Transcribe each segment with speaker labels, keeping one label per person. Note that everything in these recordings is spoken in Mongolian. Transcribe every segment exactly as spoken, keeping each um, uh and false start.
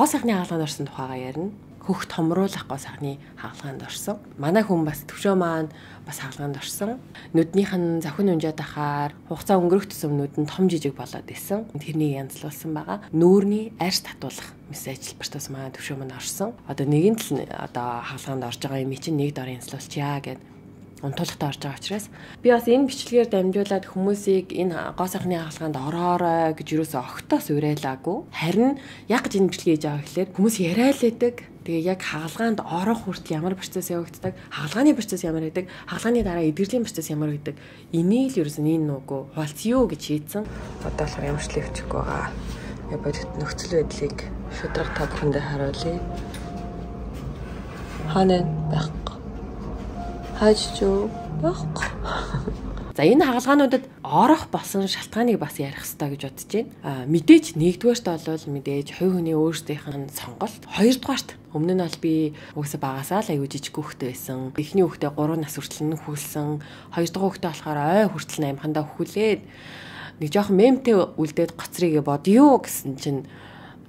Speaker 1: гоо сайхны хаалганд орсон тухайгаа ярина. Хөх томруулах гоо сайхны хаалганд орсон. Манай хүн бас төвшөө маань бас хаалганд орсон. Нүднийх нь завхин унжаад ахаар хугацаа өнгөрөх тусам нүд нь том жижиг болоод исэн. Тэрнийг янзлуулсан байгаа. Нүүрний арьс татуулах мэс ажилбартаас маань төвшөө маань орсон. Одоо нэгэн л одоо хаалганд орж байгаа юм чинь нэг дор янзлуулчаа гэд унтуулгатай орж байгаа учраас би бас энэ бичлэгээр дамжуулаад хүмүүсийг энэ гоо сайхны хаалганд ороорой гэж юусоо огтоос уриалаагүй. Харин яг гэж энэ бичлэгээ хийж байгаа гэхэлэр хүмүүс яриалаадаг. Тэгээ яг хаалганд орох хүртэл ямар процесс явагддаг, хаалгааны процесс ямар гэдэг, хаалгааны дараа эдгэрлийн процесс ямар гэдэг. Энийг л ерөөс нь энэ нүгөө хуалцъё гэж шийдсэн. Одоо болохоор ямар ч левчихгүй байгаа. Яг бодит нөхцөл байдлыг шудраг та бүхэндээ харуулъя. Ханаа байхгүй. Хажуу байхгүй. За энэ хаалгаануудад орох болсон шалтгааныг бас ярих хэрэгтэй гэж бодож байна. Аа мэдээж нэгдүгээрт бол мэдээж хувь хүний өөрсдийнх нь сонголт. Хоёрдугаарт өмнө нь бол би угсаа багасаа л аюу жижиг хүүхдтэй байсан. Эхний хүүхдээ гурван нас хүртэл нь хүүлсэн. Хоёр дахь хүүхдээ болохоор ой хүртэл амхандаа хөхүүлээд нэг жоохон мемтэй үлдээд гоцрыгээ бодё гэсэн чинь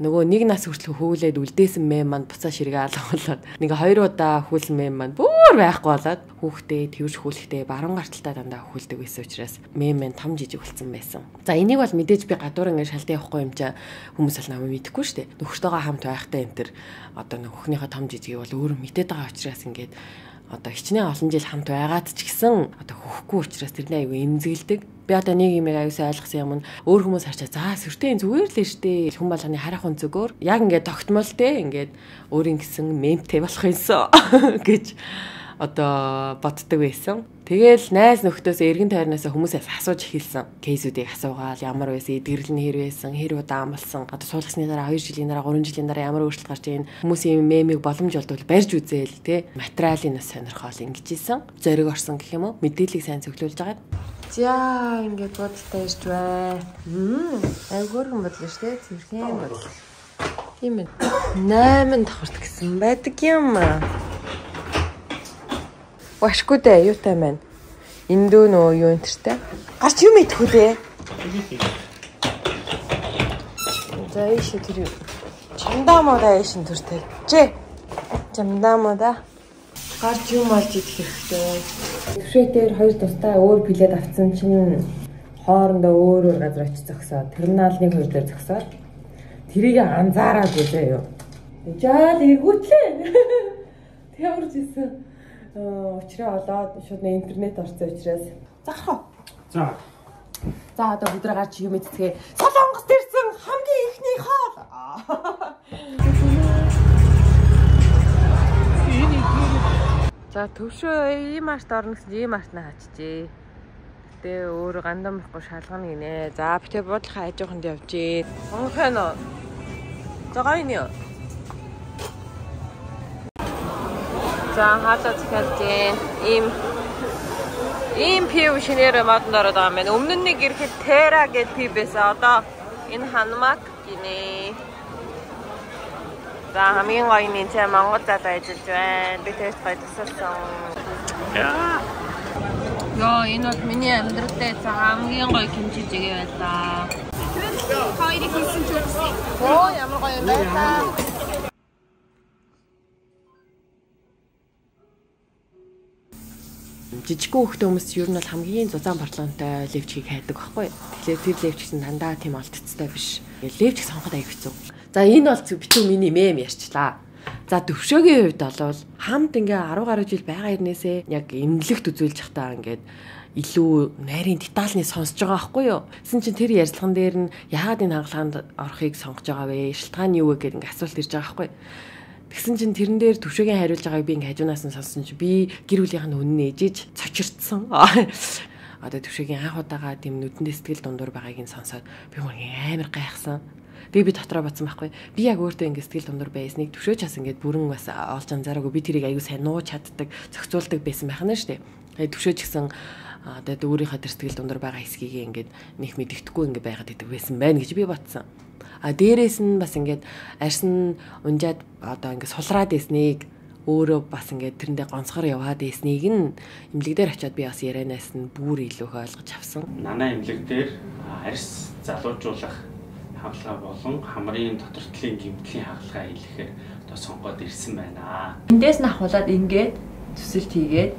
Speaker 1: нөгөө нэг нас хүртэл хөвүүлээд үлдээсэн мем маань буцаа ширгээ алгуулад нэг хоёр удаа хүүлсэн мем маань бүр байхгүй болоод хүүхдээ тэрж хүүлэхдээ баруун гарталтаа дандаа хүүлдэг байсан учраас мем маань том жижиг болсон байсан. За энийг бол мэдээж би гадуур ингээд шалтгаан явахгүй юм чаа хүмүүс л намайг мэдэхгүй шүү дээ. Нөхөртөөгөө хамт байхтай энэ төр одоо нөхнийхөө том жижиг бол өөрөө мэдээд байгаа учраас ингээд одоо хичнээн олон жил хамт байгаад ч гэсэн одоо хөхгүй учраас тэрний аюу эмзэглдэг. Би одоо нэг юм аюусаа ойлгосон юм нь өөр хүмүүс харчаа за сүртэй зүгээр л штэ хүн болгоны харах хүн зүгээр яг ингээд тогтмол те ингээд өөрийн гэсэн мемтэй болох юмсоо гэж одоо боддог байсан. Тэгэл найз нөхдөөс эргэн тойрноос хүмүүсээс асууж эхэлсэн. Кейсүүдийг асуугаал ямар байсан, эдгэрэл нь хэр байсан, хэр удаа амлсан. Одоо суулгасны дараа хоёр жилийн дараа гурван жилийн дараа ямар өөрчлөлт гарч ийн хүмүүсийн мемийг боломж олдвол барьж үзээл те. Материалын нас сонирхол ингэж ийсэн. Зориг орсон гэх юм уу? Мэдээллийг сайн цуглуулж байгаа. За ингээд бодолтой ирж бай. Мм, айгуурхан бодлоо штэ. Цэвэрхэн бодлоо. Тийм ээ. найман давхарт гэсэн байдаг юм аа. Вашгүй дээ юутай маань. Эндөө нөө юу энтертэй. Гарч юм идэхгүй дээ. За ийш тэр чамдаа модаа ийшин төртэй. Жээ. Чамдаа модаа. Гарч юм олж идэх хэрэгтэй. Төвшөө дээр хоёр тустай өөр билет авсан чинь хоорондоо өөр өөр газар очиж зогсоод терминалын хоёр дээр зогсоод тэрийг анзаараад үзээ юу. Жаал эргүүтлээ. Тэгвэрч ийсэн. Учраа олоод шууд интернет орсон учраас зарах уу?
Speaker 2: За.
Speaker 1: За одоо бүдрэ гарч юм эцгээ Солонгост ирсэн хамгийн ихний хоол. За төвшөө ийм арт орно гэсэн ийм артнаа хачжээ. Гэтэ өөр гандан байхгүй шалгана гинэ. За битээ буудлахаа хажууханд явжээ. Монхон оо. За гайны. За хаалт захиалжээ. Ийм ийм пив шинээр модонд ороод байгаа юм байна. Өмнө нь нэг ирэхэд Тера гэдэг пив байсан. Одоо энэ Ханмак гинэ. За хамгийн гоё нь энэ Монгол залуу ажиллаж байна. Би тест гоё тусалсан. Яа. Яа, энэ бол миний амьдралд хамгийн гоё кимчи жигээ байлаа. Хоёрыг хийсэн ч үгүй. Оо, ямар гоё юм байна. Жижиг хүүхдээ хүмүүс ер нь бол хамгийн зузаан парламенттай левчгийг хайдаг байхгүй. Тэгэхээр тэр левч гэсэн дандаа тийм олдцтой биш. Левч сонгоход аяг хэцүү. За энэ бол битүү миний мем ярьчлаа. За төвшөөгийн хувьд бол хамт ингээ арав гаруй жил байгаа хэрнээсээ яг эмнэлэгт үзүүлж захтаа ингээд илүү нарийн детальны сонсож байгаа байхгүй юу? Гэсэн чинь тэр ярьцлаган дээр нь яагаад энэ хаалганд орохыг сонгож байгаа вэ? Шалтгаан юу вэ гэдэг ингээ асуулт ирж байгаа байхгүй юу? Тэгсэн чинь тэрэн дээр төвшөөгийн хариулж байгааг би ингээ хажуунаас нь сонссон чинь би гэр бүлийнх нь үнэн ээжиж цочирдсан. Одоо төвшөөгийн анх удаага тийм нүдэндээ сэтгэл дундуур байгааг нь сонсоод би мөргийн амар гайхсан. Тэгээ би дотроо бодсон байхгүй. Би яг өөртөө ингээ сэтгэл дундуур байсныг төвшөөч бас ингээ бүрэн бас олж анзаараагүй. Би тэрийг аягүй сайн нууж чаддаг, зохицуулдаг байсан байх нь шүү дээ. Төвшөөч гэсэн одоо өөрийнхөө тэр сэтгэл дундуур байгаа хэсгийг ингээ нэг мэддэхгүй ингээ байгаад идэг байсан байна гэж би бодсон. А дээрээс нь бас ингээд арьсан унжаад одоо ингээд сулраад ийснийг өөрөө бас ингээд тэрэндээ гонцгор яваад ийснийг нь эмнэлэг дээр очиод би бас ярианаас нь бүр илүү их ойлгож авсан.
Speaker 2: Нанаа эмнэлэг дээр арьс залуужуулах хагалгаа болон хамрын дотортлын гэмтлийн хагалгаа хийлгэхээр одоо сонгоод ирсэн байна.
Speaker 3: Эндээс нь ахуулаад ингээд төсөлт хийгээд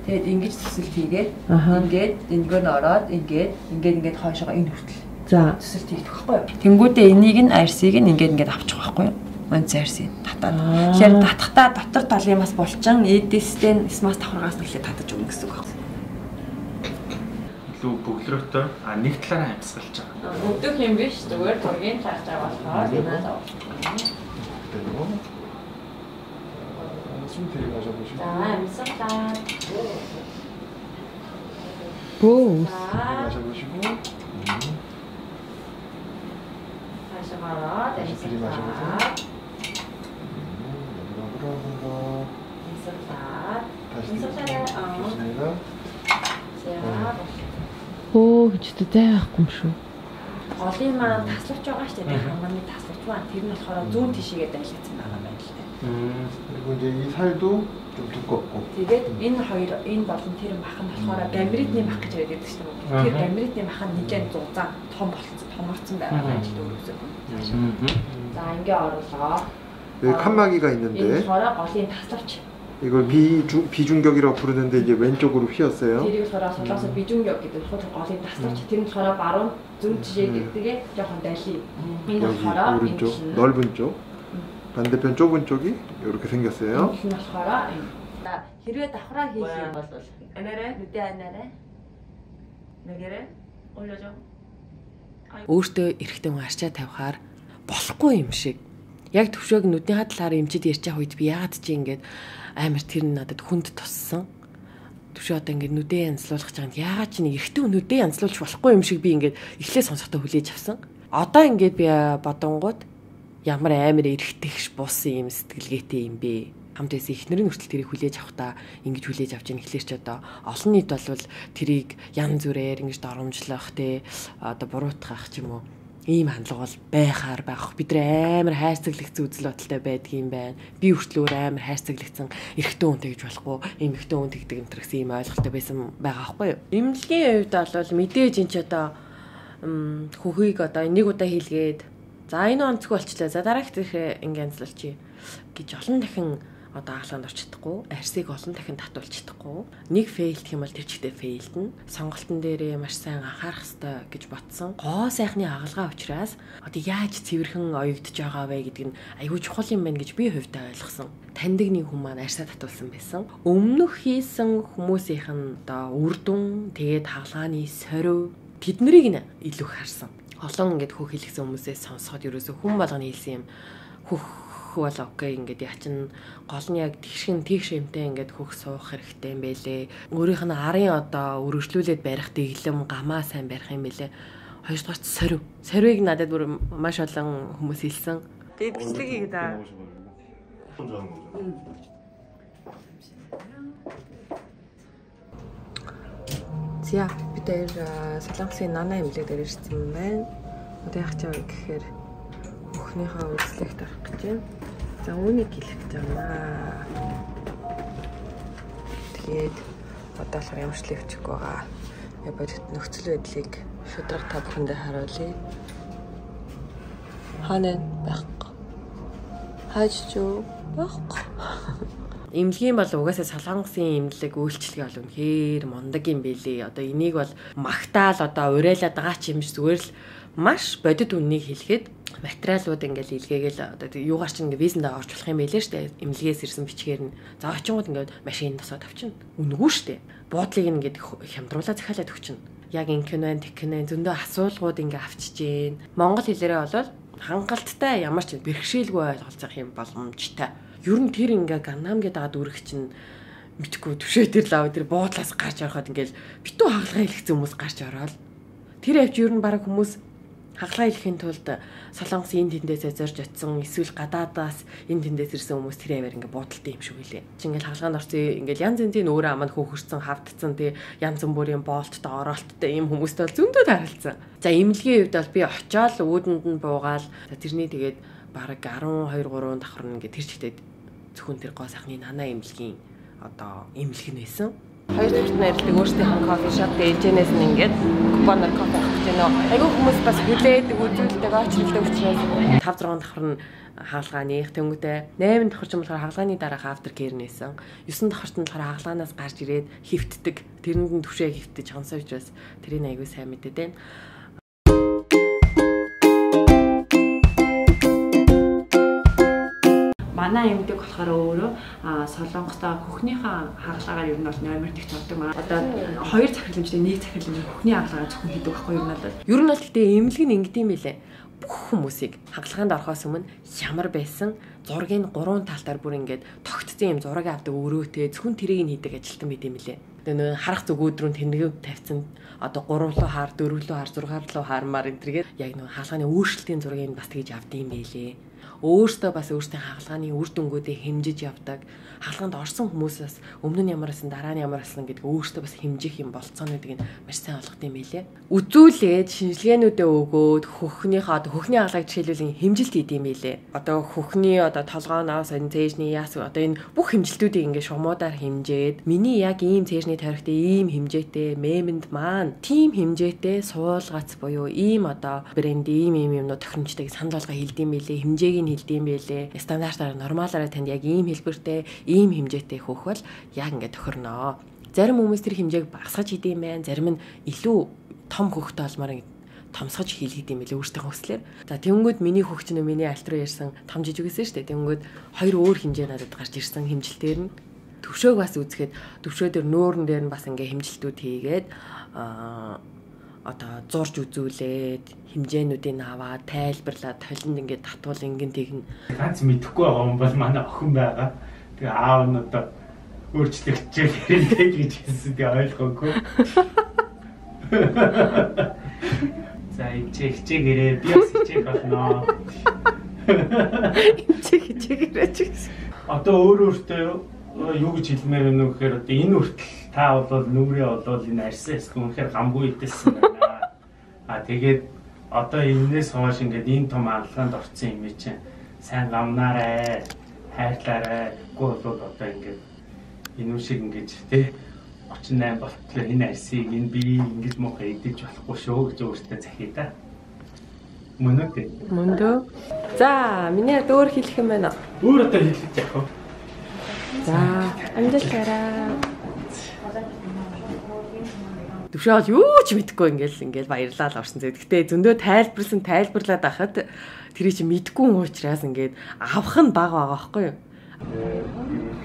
Speaker 3: тэгээд ингэж төсөлт хийгээд ингээд энгөө нь ороод ингээд ингээд ингээд хойшоо энэ хүртэл за төсөлт хийх байхгүй юу. Тэнгүүдээ энийг нь арсыг нь ингээд ингээд авчих байхгүй юу. Мөн арсыг татаад. Тэгэхээр татахтаа дотор талын бас булчин эдэстэн смас давхаргаас нэлээд татаж өгнө гэсэн үг байна.
Speaker 2: Лүү бөглөрөөтэй а нэг талаараа амьсгалж байгаа.
Speaker 3: Өгдөх юм биш зүгээр тургийн цааш байгаа болохоор энэ даа. 자, амьсгалаа.
Speaker 1: 오.
Speaker 4: 마셔보시고.
Speaker 3: 마셔봐라.
Speaker 4: 미리 마셔보세요. 여기로 한번 더.
Speaker 3: амьсгалаа.
Speaker 4: 다시
Speaker 3: амьсгалаа.
Speaker 4: 좋습니다.
Speaker 3: За.
Speaker 1: Оо ч үгүй байхгүй юм шүү.
Speaker 3: Голын маань таславч байгаа шүү дээ. Хамгааны таславч маань тэр нь болохоор зүүн тишээгээ дайлгдсан байгаа юм байна л дээ.
Speaker 4: 그리고 이제 이 살도 좀 두껍고.
Speaker 3: Тэгээд энэ хоёр энэ болон тэр мах нь болохоор гамритны мах гэж яриад байдаг шүү дээ. Тэр гамритны мах нь нэлээд зузаан том болцсон, томорцсон байгаа байж дөрөвсөв. За ингээ орлоо.
Speaker 4: 여기 칸막이가
Speaker 3: Энэ
Speaker 4: 있는데
Speaker 3: болохоор голын таславч.
Speaker 4: 이걸 비중 비중격이라고 부르는데 이제 왼쪽으로 휘었어요.
Speaker 3: тэрийг болохоор солоосо 비중격 гэдэг хот голын таславч. Тэр нь болохоор баруун зөв жишээ гэдгээ жоохон дайли. Энэ
Speaker 4: 여기
Speaker 3: болохоор
Speaker 4: 오른쪽 넓은 쪽. 반대편 좁은 쪽이 이렇게 생겼어요.
Speaker 3: энэ болохоор на хэрвээ давхраа хийх юм бол анаарай нүдэ анаарай нэгэрэ олоожо
Speaker 1: Өөртөө эрэхтэн арчаа тавихаар болохгүй юм шиг. Яг төвшөөг нүдний хадлаар эмчид ярьж байгаа үед би яагаад чи ингээд амар тэр нь надад хүнд туссан. Төвшөө одоо ингээд нүдээ янзлуулах гэж байгаа нь яагаад чи нэг эрэхтэн нүдээ янзлуулж болохгүй юм шиг би ингээд эхлээ сонсохдоо хүлээж авсан. Одоо ингээд би бодонгууд ямар амар эрэхтэйгш буусан юм сэтгэлгээтэй юм бэ. Хамт байсан эхнэрийн хүртэл тэрийг хүлээж авахдаа ингэж хүлээж авч яах эхлэр ч одоо олон нийт болвол тэрийг янз бүрээр ингэж доромжлох те одоо буруутгах ч юм уу ийм хандлага бол байхаар байх. Бид нар амар хайрцаглагдсан үзэл бодолтой байдаг юм байна. Би хүртэл өөр амар хайрцаглагдсан эрэгтэй хүн тэгж болохгүй, эмэгтэй хүн тэгдэг энэ төр гэсэн ийм ойлголттой байсан байгаа байхгүй юу? Эмнэлгийн хувьд бол мэдээж энэ ч одоо хөхийг одоо нэг удаа хийлгээд за энэ онцгүй болчлаа. За дараагт их ингэ янзлуулчих гэж олон дахин одоо хаалганд орч чадахгүй, арсыг олон дахин татуулж чадахгүй. Нэг фейлдэх юм бол тэр чигтээ фейлдэн. Сонголтын дээрээ маш сайн анхаарах хэрэгтэй гэж бодсон. Гоо сайхны хаалгаа учраас одоо яаж цэвэрхэн оёгдож байгаа вэ гэдг нь аюул чухал юм байна гэж би хувьдаа ойлгосон. Таньдаг нэг хүн маань арсаа татуулсан байсан. Өмнөх хийсэн хүмүүсийнх нь одоо үр дүн, тэгээд хаалгааны сорив тэднийг нь илүү харсан. Олон ингээд хөх хэлсэн хүмүүсээс сонсоход ерөөсөө хүн болгоны хэлсэн юм хөх бол окей ингээд яачин гол нь яг тэгшин тийш юмтай ингээд хөх суух хэрэгтэй юм байлээ. Өөрийнх нь арын одоо өргөжлүүлээд барих дэглэм гамаа сайн барих юм байлээ. Хоёрдугаарт сорив. Сорвиг надад бүр маш олон хүмүүс хэлсэн. Тэгээд бичлэг хийгээд аа. За бид хоёр Солонгосын нана имлэг дээр ирсэн юм байна. Одоо яах вэ гэхээр өхнийхөө үзлэгт орох гэж байна. За үүнийг хэлэх гэж байна. Тэгээд одоо л ямар ч левчг байгаа. Яг бодит нөхцөл байдлыг шударга та бүхэндээ харуулъя. Ханаа байхгүй. Хаажчуу байхгүй. Имлэгийн бол угаасаа Солонгосын имлэг үйлчлэгээ бол үнэхээр мундаг юм бэлээ. Одоо энийг бол магтаал одоо урайлаад байгаа ч юм шиг зүгээр л маш бодит үннийг хэлэхэд материалууд ингээл илгээгээл одоо юугаар ч ингээ визэндээ орж болох юм байлээ штэ. Имлэгээс ирсэн бичгээр нь за очингууд ингээд машин тосоод авчихна. Үнгүү штэ. Буудлыг ингээд хямдруулаа захиалаад өгчихнө. Яг инкэнэн тэкэнэн зөндөө асуулгууд ингээ авчиж гин. Монгол хэлээрээ болвол хангалттай ямар ч бэрхшээлгүй ойлголцох юм боломжтой. Ер нь тэр ингээ Ганнам гэдэг ад үрэх чинь мэдгүй төвшөө тэр лав тэр буудлаас гарч ороход ингээл битүү хагалгаа хэлсэн хүмүүс гарч ороод тэр авч ер нь баг хүмүүс хагалгаа хэлэхийн тулд Солонгосын энэ тэндээсээ зорж очсон эсвэл гадаадаас энэ тэндээс ирсэн хүмүүс тэр аваар ингээ буудалтай юм шиг үлээ. Чи ингээл хагалгаанд орсон ингээл янз янзын өөрөө аманд хөөхөрсөн хавтцсан тий янз бүрийн боолттой ороолттой ийм хүмүүстэй бол зөндөө таралцсан. За имлэгийн хувьд бол би очиод уудэнд нь буугаал тэрний тэгээд бараг арван хоёр гурван давхар ингээ тэр чигтээ зөвхөн тэр гоо сайхны нана имлэгийн одоо имлэг нь байсан. Хоёр дахь найрдаг өөрсдийнх нь кофе шоп дэжэнээс нь ингээд купоноор кофе авах гэж байна. Айгүй хүмүүс бас хүлээдэг үзүүлдэг очролдог учраас тавь зургаан давхар нь хаалгааных тэнгуүтэй найман давхар ч юм болохоор хаалгааны дараах автер кэр нээсэн. Есөн давхарт нь болохоор хаалгаанаас гарч ирээд хөвтдөг. Тэрэнд нь түвшээ хөвтөж хонсоо учраас тэрийг айгүй сайн мэдээд байна. Манай юмдаг болохоор өөрөө Солонгостой хөхнийхээ хаалгаагаар ер нь бол номер тэгт авдаг маа. Одоо хоёр захирлэмжтэй нэг захирлэмж хөхний хаалгаагаар зөвхөн хийдэг байхгүй юу надад. Ер нь бол гэтээ эмнэлэг нь ингэдэм байлээ. Бүх хүмүүсийг хаалгаанд орохоос өмнө ямар байсан зургийг гурван талтаар бүр ингээд тогтцсон юм зураг авдаг өрөөтэй зөвхөн тэрийг нь хийдэг ажилтан байт юм лээ. Тэгээ нөө харах зүг өөдрөнд тэнэг тавьсан одоо гурав руу хаар, дөрөв рүү хаар, зургаар руу хаармаар энэ тэргээд яг нөө хаалгааны өөрчлөлтийн зургийг бас тэгж авдаг юм байлээ. Өөртөө бас өөртөө хаалгааны үр дүнгуудыг хэмжиж явдаг. Хаалгаанд орсон хүмүүсээс өмнө нь ямар байсан, дараа нь ямар байсан гэдэг өөртөө бас хэмжих юм болцоонуудыг нь маш сайн олгох юм байлээ. Үзүүлээд шинжилгээнүүдээ өгөөд хөхнийхээ хөхний хаалгыг жишээлбэл хэмжилт хийд юм байлээ. Одоо хөхний одоо толгооноос энэ цээжний яас одоо энэ бүх хэмжилтүүдийг ингээд шумуудаар хэмжээд миний яг ийм цээжний тавирхтай ийм хэмжээтэй мемэнд маань тийм хэмжээтэй суулгац буюу ийм одоо брэнд ийм ийм юмнууд тохиромжтойг санал болгоо хэлдэм байлээ. Хэмжээг нь хэлдэм байлээ. Стандартаар нормалаараа танд яг ийм хэлбэртэй ийм хэмжээтэй хөөх бол яг ингээд тохирноо. Зарим хүмүүс тэр хэмжээг багасгаж хийдэм байх, зарим нь илүү том хөхтэй олмоор томсгож хийлгээд юм байлээ өөртөө хөслөөр. За тэнгүүд миний хөгч нь миний альт руу ярьсан том жижиг гэсэн шүү дээ. Тэнгүүд хоёр өөр хэмжээ надад гарч ирсэн хэмжилтээр нь төвшөөг бас үзэхэд төвшөө дээр нөөрн дээр нь бас ингээ хэмжилтүүд хийгээд аа одоо зурж үзүүлээд хэмжээнүүдийг аваад тайлбарлаад толинд ингээд татвал ингэн тэгнэ.
Speaker 2: Ганц мэдэхгүй байгаа юм бол манай охин байгаа. Тэгээ аав нь одоо өөрчлөгдөж хэрэгтэй гэж хэлсэн би ойлгоогүй. За ичээ хичээгээрээ би бас хичээх болно.
Speaker 1: Ичээ хичээгээрээ ч гэсэн.
Speaker 2: Одоо өөр өөртөө юу гэж хэлмээр байна вэ гэхээр одоо энэ хүртэл та бол нүрээ болвол энэ арьсан эсэх үнэхээр гамгүй идэлсэн байна. А тэгээд одоо энэс хойш ингээд энэ том аргалгаанд орсон юм чинь сайн гамнаарай, хайрлаарай. Гол бол одоо ингээд энэ шиг ингэж тий очин найм болтлоо энэ арьсыг энэ би ингэж мохоо идэж болохгүй шүү гэж өөртөө захий та. Мөн үү?
Speaker 1: Мөн дөө. За, миний өөр хэлэх юм байна.
Speaker 2: Өөр одоо хэлэх яах вэ?
Speaker 1: За, амжилтаарай. Төвшөөл юу ч мэдэхгүй ингээл ингээл баярлал орсон зэ. Гэтэ зөндөө тайлбарлсан тайлбарлаад байхад тэрий чи мэдэхгүй уучраас ингээд авах нь баг байгаа байхгүй юу?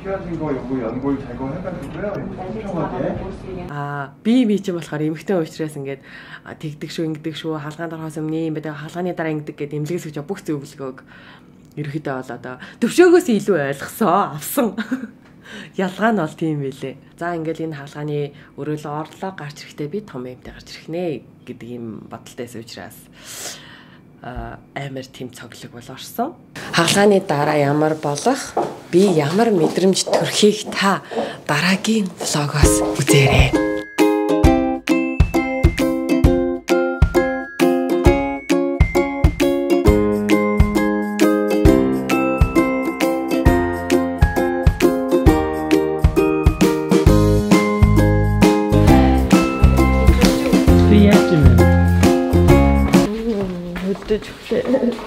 Speaker 4: 피하신 거 요거 연골 제거해가지고요. 촘촘하게.
Speaker 1: 아, би би ч юм болохоор эмхтэн уучраас ингээд тэгдэг шүү, ингэдэг шүү, хаалгаанд орохоос өмнө юм байдаг, хаалгааны дараа ингэдэг гэдэг эмнэлгээс өгч бүх зөвлөгөөг ерөөхдөө бол одоо төвшөөгөөс илүү ойлгосон, авсан. Ялгаа нь бол тийм байлээ. За ингээл энэ хаалгааны өрөөлөө орлоо гарч ирэхдээ би том юмтай гарч ирэх нэ гэдэг юм бодолтойс учраас амар тийм цоглог бол орсон. Хаалгааны дараа ямар болох, би ямар мэдрэмж төрхийг та дараагийн влогоос үзээрэй.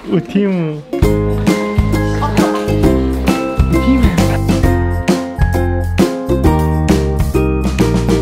Speaker 2: Ô, тийм үү? Тийм ээ.